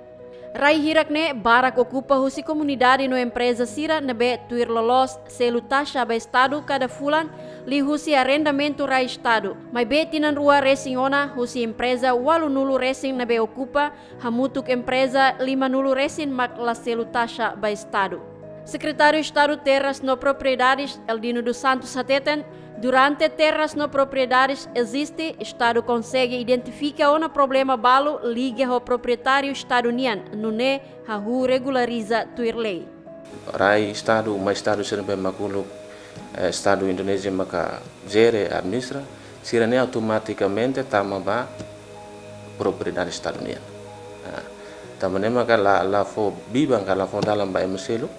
Rai hirak ne'e barak okupa husi komunidade no empreza sira ne'ebé tuir loloos selu taxa ba Estadu kada fulan liuhusi arrendamentu rai Estadu. Maibé tinan rua resin ona husi empreza ualunulu resin ne'ebé okupa, hamutuk empreza limanulu resin mak la selu taxa ba Estadu. Sekretáriu Estadu Terras no Propriedades, Eldino dos Santos, hateten, durante terras no propriedades eziste, Estadu konsege identifika ona problema balu liga ho proprietáriu Estadu nian, nune'e hahú regulariza tuir lei. Rai Estadu, uma Estadu sira ne'ebé mak uluk, eh, Estadu Indonézia maka jere, administra, sira-ne'e automatikamente tama ba propriedade Estadu nian. Ah, tanba ne'e maka la, la fó biban ka la fó dalan ba ema seluk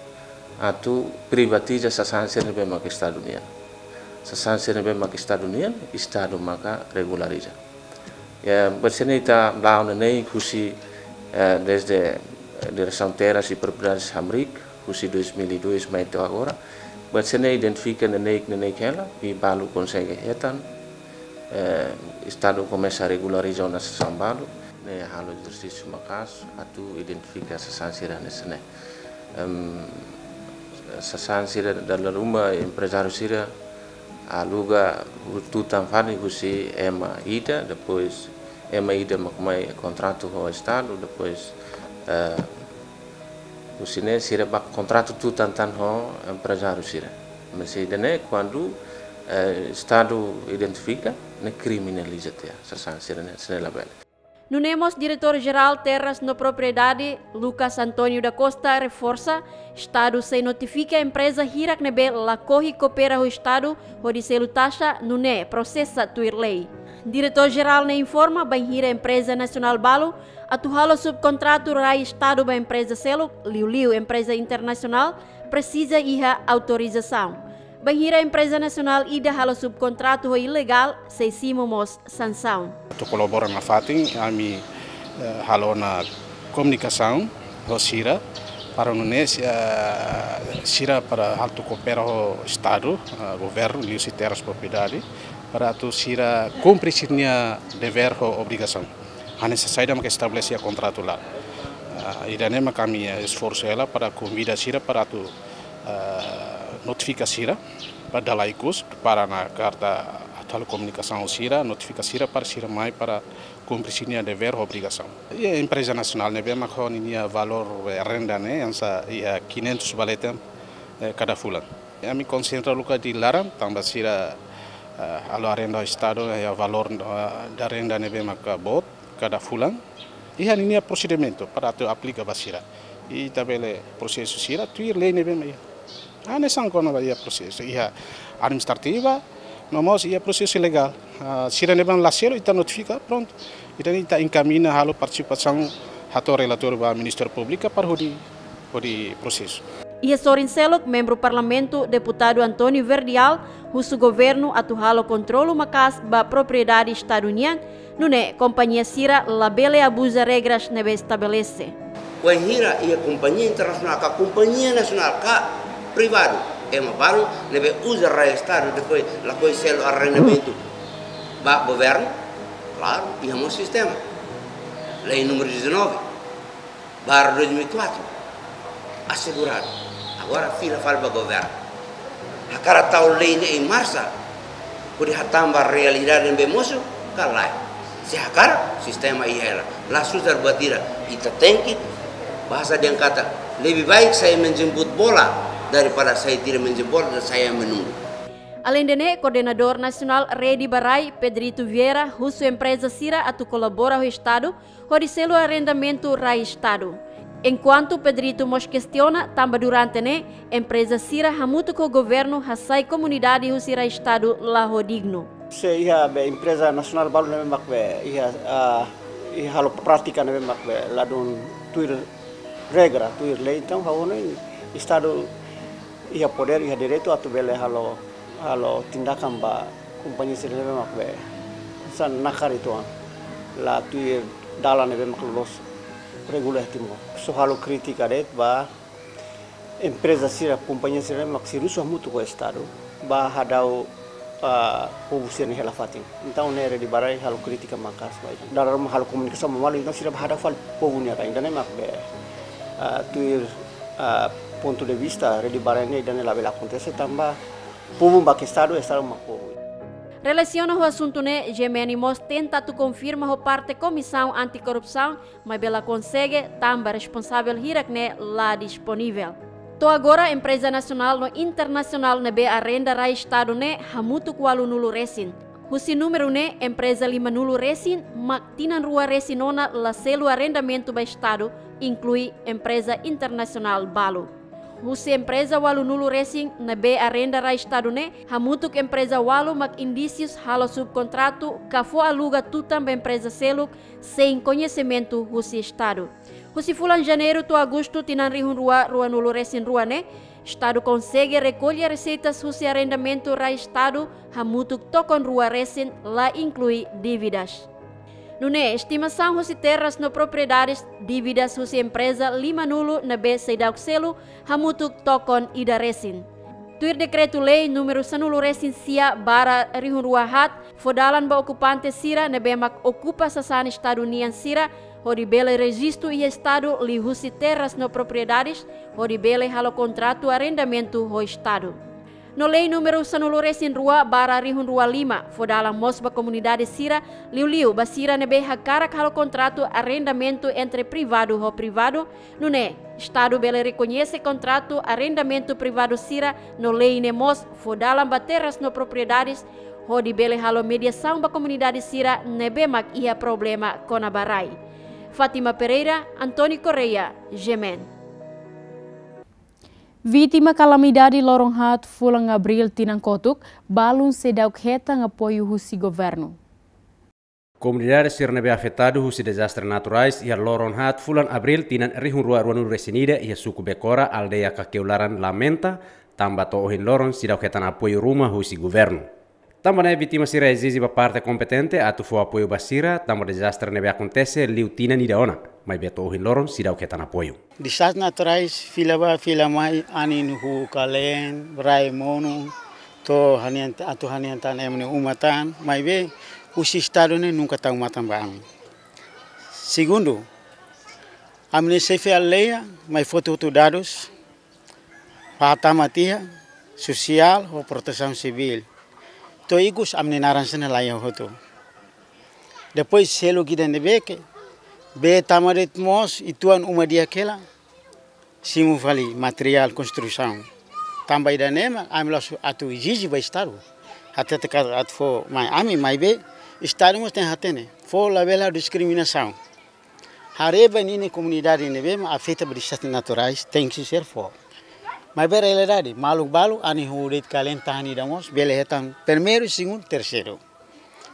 atu privatiza sasán sira ne'ebé mak Estadu nian. Sasán sira ne'ebé mak Estadu nian, Estadu maka regulariza. Ya, buat sira-ne'e ita la'o neineik husi, eh, desde, eh, Diresaun Terras e Propriedades hamriik, husi dois mil e dois mai to'o agora. Buat sira-ne'e identifika neineik, neineik hela, i balu konsege hetan, eh, Estadu komesa regulariza ona sasán balu, ne'e halo ezersísiu maka'as, atu identifika sasán sira hanesan ne'e. Em, sasán sira dala ruma emprezáriu sira aluga tutan fali husi ema ida, depois ema ida mak mai kontratu ho Estadu, depois, eh, husi ne'e sira ba kontratu tutan tan ho emprezáriu sira. Mas ida-ne'e kuandu, eh, Estadu identifika, ne'e kriminaliza tiha, sasán sira-ne'e, sira-ne'e labele. Nune'e mós Diretór Jerál Terras no Propriedade, Lucas António da Costa, reforsa, Estadu sei notifika empreza hirak ne'ebé lakohi koopera ho Estadu hodi selu taxa, nune'e prosesa tuir lei. Diretór Jerál ne'e informa bainhira empreza nasionál balu atu halo subkontratu rai Estadu ba empreza seluk, liuliu empreza internasionál, presiza iha autorizasaun. Bainhira empreza nasionál ida halo subkontratu ho ilegál, sei simu mós sansaun. Atu kolabora nafatin, ami, eh, halo ona komunikasaun ho sira, para nune'e, eh, sira para atu koopera ho Estadu, eh, governu, liuhusi terras propriedade, para atu sira kumpre sira-nia devér ho obrigasaun. Hanesan saida maka estabelese iha kontratu laran. Ah, ida-ne'e maka ami, eh, esforsu hela para konvida sira para atu, eh, notifika sira, para dala ikus, para na karta atu halo komunikasaun ho sira, notifika sira para sira mai para kumpre sira-nia devér ho obrigasaun. I empreza nasionál ne'ebé mak ho ninia valór, eh, renda ne'e, hanesan iha quinhentos ba leten, eh, kada fulan. Ami konsentra luka di laran, tanba sira, eh, halo arrenda Estadu, iha valór, eh, da renda ne'ebé maka boot kada fulan. Iha ninia prosedimentu para atu aplika ba sira. Ita bele prosesa sira tuir lei ne'ebé mak iha. Hanesan kona-ba iha prosesu, iha administrativa, no mós iha prosesu legál. Ah, sira ne'ebé la selu ita notifika, prontu. Ita, ita enkamiña halo partisipasaun, hato'o relatóriu ba Ministériu Públiku para hodi, hodi prosesu. Iha sorin seluk, membru Parlamentu, Deputadu António Verdial, husu governu atu halo kontrolu maka'as ba propriedade Estadu nian, nune'e kompañia sira labele abuza regras ne'ebé estabelese. Wainhira iha kompañia internasionál ka kompañia nasionál ka privadu, ema balu ne'ebé uza rai Estadu depois lakohi selu arrendamentu ba governu, klaru, iha mós sistema. Lei númeru dezanove barra dois mil e quatro, aseguradu. Agora fila fali ba governu. Hakarak tau lei ne'e em marcha, hodi hatán ba realidade ne'ebé mosu, ka lae. Se hakarak, sistema iha hela. La susar buat ida, ita tenke, bahasa dehan katak, lebih baik saya menjemput bola daripada saya tidak menjemput bola dan saya menunggu. Aleinde ne'e, Koordenadór Nasionál Rede ba Rai, Pedrito Vieira, husu empreza sira atu kolabora ho Estadu, hodi selu arrendamentu rai Estadu. Enkuantu Pedrito mós kestiona, tanba durante ne'e, empreza sira hamutuk ho governu hasai komunidade husi rai Estadu la ho dignu. Se iha be empreza nasionál balu ne'ebé mak be iha, ah, iha halo prátika ne'ebé mak be ladún tuir regra, tuir lei, entaun ha'u hanoin Estadu iha podér, iha direitu atu bele halo, halo tindakan ba kompañia sira ne'ebé mak be hanesan nakar uitoan, la tuir dalan ne'ebé mak loloos regula iha Timor. Só halo krítika de'it ba empreza sira, kompañia sira ne'ebé mak servisu hamutuk ho Estadu, ba hadau, ah, povu sira-nia hela-fatin. Entaun ne'e Rede ba Rai halo krítika maka'as ba ita. Dala ruma halo komunikasaun ba malu, entaun sira ba hadau fali povu nia rai. Ida-ne'e mak be, ah, tuir, ah, pontu de vista Rede ba Rai ne'e, ida-ne'e labele akontese tanba povu mak Estadu, Estadu mak povu. Relasiona ho asuntu ne'e, G M N mós tenta atu konfirma ho parte Komisaun Antikorrupsaun, maibé la konsege, tanba responsavel hirak ne'e la disponivel. To'o agora, empreza nasionál no internasionál ne'ebé arrenda rai Estadu ne'e hamutuk ualunulu resin. Husi númeru ne'e, empreza limanulu resin mak tinan rua resin ona la selu arrendamentu ba Estadu, inklui empreza internasionál balu. Husi empreza ualunulu resin ne'ebé arrenda rai Estadu ne'e, hamutuk empreza ualu mak indísius halo subkontratu ka fó aluga tutan ba empreza seluk, sein koñesimentu husi Estadu. Husi fulan Janeiru to'o Agostu tinan rihun rua ruanulu resin rua ne'e, Estadu konsege rekolla reseitas husi arrendamentu rai Estadu hamutuk tokon rua resin, la inklui dívidas. Nune'e, estimasaun husi terras no propriedades, dívidas husi empreza limanulu ne'ebé seidauk selu hamutuk tokon ida resin. Tuir Dekretu-Lei númeru sanulu resin sia barra rihun rua haat, fó dalan ba okupante sira ne'ebé mak okupa sasán Estadu nian sira, hodi bele rejistu iha Estadu liuhusi terras no propriedades, hodi bele halo kontratu arrendamentu ho Estadu. No Lei númeru sanulu resin rua barra rihun rua lima, fó dalan mós ba komunidade sira, liuliu ba sira ne'ebé hakarak halo kontratu arrendamentu entre privadu ho privadu, nune'e Estadu bele rekoñese kontratu arrendamentu privadu sira, no lei ne'e mós fó dalan ba terras no propriedades, hodi bele halo mediasaun ba komunidade sira ne'ebé mak iha problema kona-ba rai. Fátima Pereira, António Correia, G M N. Vítima kalamidade loron haat fulan Abríl tinan kotuk, balun seidauk hetan apoiu husi governu. Komunidade sira ne'ebé afetadu husi dezastre naturais iha loron haat fulan Abríl tinan rihun rua ruanulu resin ida iha suku Bekora, aldeia Kakeularan lamenta, tanba to'o ohin loron seidauk hetan apoiu ruma husi governu. Tanba ne'e vítima sira ezije ba parte kompetente atu fó apoiu ba sira, tanba dezastre ne'ebé akontese liu tinan ida ona, maibé to'o ohin loron seidauk hetan apoiu. Dezastre naturais, fila bá, fila mai, anin huu kaleen, rai monu, to'o hanian, atu hanian tan ema nia uma tan, maibé husi Estadu ne'e nunka tau matan ba ami. Segundu, ami-nia xefe aldeia mai foti hotu dadus, ba hatama tiha, sosiál ho protesaun sivíl. To'o ikus ami-nia naran sira ne'e la iha hotu. Depois selu ida ne'ebé ke, bee tama de'it mós, uitoan uma di'ak hela, simu fali materiál konstrusaun. Tanba ida-ne'e mak ami la'ós atu ezije ba Estadu. Hatete katak atu fó mai ami, maibé Estadu mós tenke hatene. Fó labele diskriminasaun. Haree ba ninia komunidade ne'ebé mak afeta ba dezastre naturais, tenke ser fó. Maibé realidade, maluk balu, anin huu de'it kaleen tahan ida mós, bele hetan primeiru, segundu, terseiru.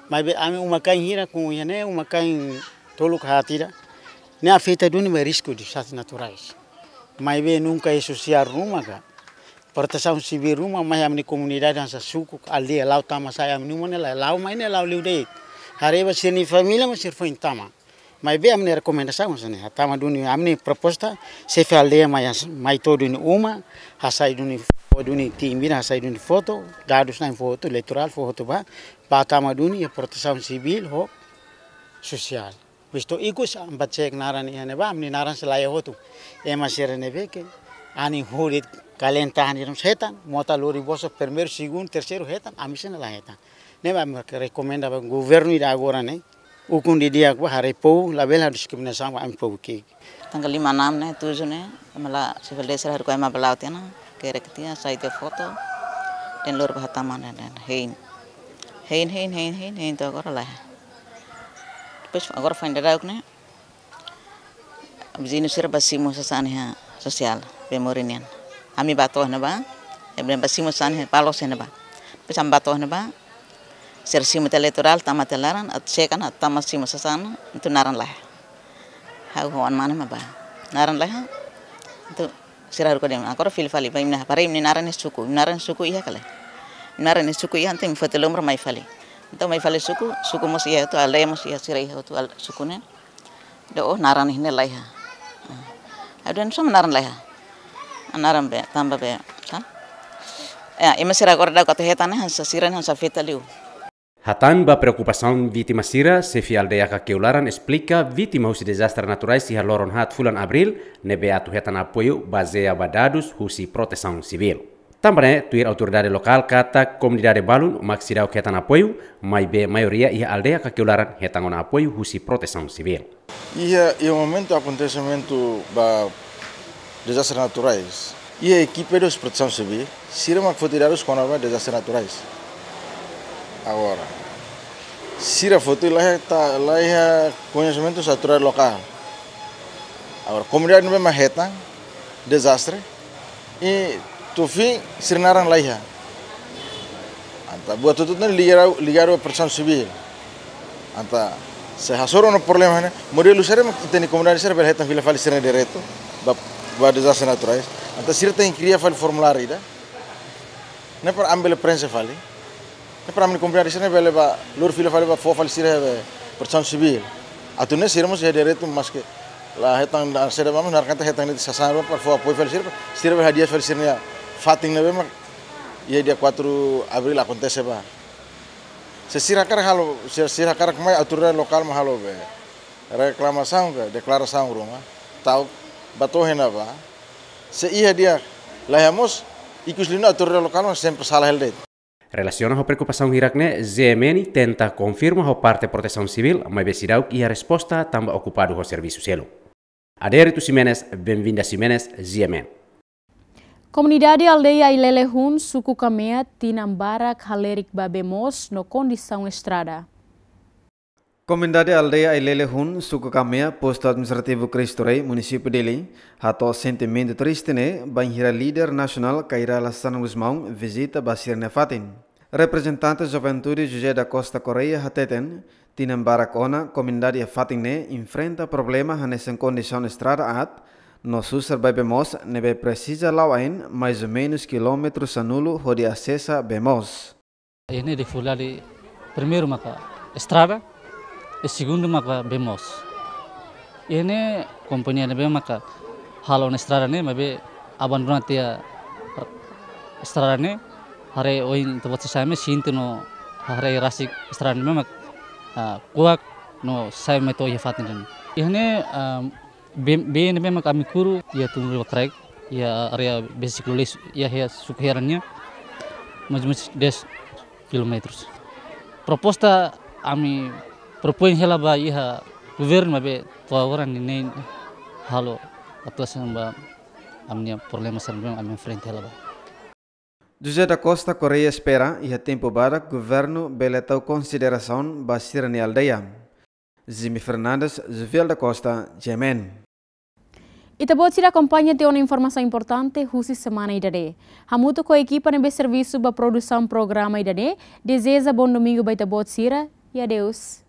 Maibé ami uma-kain hira, kun iha ne'e uma-kain tolu ka haat ida, ne'e afeta duni ba risku dezastre naturais. Maibé nunka iha sosiál ruma ka, protesaun sivíl ruma, mai ami-nia komunidade hanesan suku, aldeia la'o tama sai ami-nia uma ne'e la, la'o mai ne'e la'o liu de'it. Haree ba sira-nia família, maibé sira foin tama. Maibé ami-nia rekomendasaun hanesan ne'e, hatama duni ami-nia proposta, xefe aldeia mai has-, mai to'o duni uma, hasai duni fó duni timbir, hasai duni foto, dadus na'in fó hotu, eleitorál fó hotu bá, bá tama duni iha protesaun sivíl ho sosiál. Vistu ikus ami bá cek naran iha ne'ebá, ami-nia naran sei la iha hotu. Ema sira ne'ebé ke, anin huu de'it kaleen tahan ida mós hetan, mota lori bosok primeiru, segundu, terseiru hetan, ami sira ne'e la hetan. Ne'ebé ami rekomenda ba governu ida agora ne'e, ukun didi'ak bá haree povu, labele diskriminasaun ba ami povu ki'ik. Tanggal lima, enam ne'e, tujuh ne'e, ema la, xefe aldeia sira haruka ema bá la'o tiha ona, hakerek tiha, hasai tiha foto, dehan lori bá hatama dehan, dehan hein. Hein, hein, hein, hein, hein, to'o agora la iha. Depois agora foin daudauk ne'e, viziñu sira bá simu sasán iha sosiál, bee morin nian. Ami bá to'o ne'ebá, ema bá simu sasán iha palos ne'ebá. Depois ami bá to'o ne'ebá, sira simu tiha eleitorál, tama tiha naran, atu xekan, atu tama simu sasán, entaun naran la iha. Ha'u ho oan mane mak bá. Naran la iha. Entaun sira haruka dehan, agora fila fali, bá imi-nia, para imi-nia naran iha suku, imi-nia naran iha suku iha ka lae. Imi-nia naran iha suku iha, entaun imi foti lomra mai fali. Entaun mai fali suku, suku mós iha hotu, aldeia mós iha, sira iha hotu al-, suku ne'e. Dehan, oh, naran iha ne'e la iha. Ah. Ha'u dehan, sá mak naran la iha? Ah, naran bee, tanba bee, sá? Ya, ema sira agora daudauk atu hetan ne'e, hanesan sira ne'e hanesan afeta liu. Hatán ba preokupasaun vítima sira, xefe aldeia Kakeularan esplika vítima husi dezastre naturais iha loron haat fulan Abríl, ne'ebé atu hetan apoiu bazeia ba dadus husi protesaun sivíl. Tanba ne'e, tuir autoridade lokál katak komunidade balun mak seidauk hetan apoiu, maibé maioria iha aldeia Kakeularan hetan ona apoiu husi protesaun sivíl. Iha, iha momentu akontesimentu ba dezastre naturais, Iha ekipa husi Protesaun Sivíl, sira mak foti dadus kona-ba dezastre naturais. Agora, sira foti la iha ta, la iha koñesimentu autoridade lokál. Agora, komunidade ne'ebé mak hetan dezastre, i to'o ohin sira naran la iha. Entaun buat hotu-hotu ne'e ligadu, ligadu ba Protesaun Sivíl. Entaun, se hasoru ona problema ne'e, modelu saida mak ita-nia komunidade sira bele hetan fila fali sira-nia direitu ba, ba dezastre naturais. Entaun, sira tenke kria fali formuláriu ida ne'e para ami bele prenxe fali. Ne'e para ami-nia komunidade sira bele bá lori fila fali, bá fó fali sira iha Protesaun Sivíl. Atu nune'e sira mós iha direitu, maske la hetan, la saida, vamos, naran katak hetan ne'e sasán para fó apoiu fali sira, sira bele hadi'a fali sira-nia fatin ne'ebé mak iha dia quatro Abril akontese ba. Se sira hakarak halo, se sira hakarak mai autoridade lokál mak halo be reklamasaun ka deklarasaun ruma, tau ba to'o iha ne'ebá. Se iha di'ak, la iha mós, ikus liu ne'e autoridade lokál mak sempre sala hela de'it. Relasiona ho preokupasaun hirak-ne'e, G M N tenta konfirma ho parte Protesaun Sivíl, maibé seidauk iha resposta tanba okupadu ho servisu seluk. Adérito Ximenes, Benvinda Ximenes, G M N. Komunidade aldeia Ailele Hun, suku Kamea, tinan barak halerik ba bee moos no kondisaun estrada. Komunidade aldeia Ailele Hun, suku Kamea, postu administrativu Cristo Rei, munisípiu Dili, hato'o sentimentu triste ne'e bainhira líder nasionál Kay Rala Xanana Gusmão vizita ba sira-nia fatin. Reprezentante Juventude José da Costa Correia hateten, tinan barak ona komunidade iha fatin ne'e enfrenta problema hanesan kondisaun estrada aat, no susar ba bee moos ne'ebé presiza la'o ain mais ou menus kilómetru sanulu hodi asesa bee moos. Iha ne'e difikuldade primeiru maka estrada, i segundu maka bee moos. Iha ne'e kompañia ne'ebé maka halo ona estrada ne'e, maibé abandona tiha estrada ne'e, haree ohin ita-boot sira sa'e mai sente no haree rasik estrada ne'e mak, ah, kuak no sa'e mai to'o iha fatin ne'e. Iha ne'e, ah, bee, bee ne'ebé mak ami kuru iha tun rua kraik, iha área bee siklu leis, iha, iha suku Heran nian, mais ou menus dez kilómetrus. Proposta ami propoin hela ba iha governu, maibé to'o agora ninin halo atuasaun ba ami-nia problema sira ne'ebé ami enfrenta hela ba. José da Costa Correia espera iha tempu badak governu bele tau konsiderasaun ba sira-nia aldeia. Jimmy Fernandes, Jovial da Costa, G M N. Ita-boot sira akompaña tiha ona informasaun importante husi semana ida-ne'e. Hamutuk ho ekipa ne'ebé servisu ba produsaun programa ida-ne'e, dezeja bom domingu ba ita-boot sira, i adeus.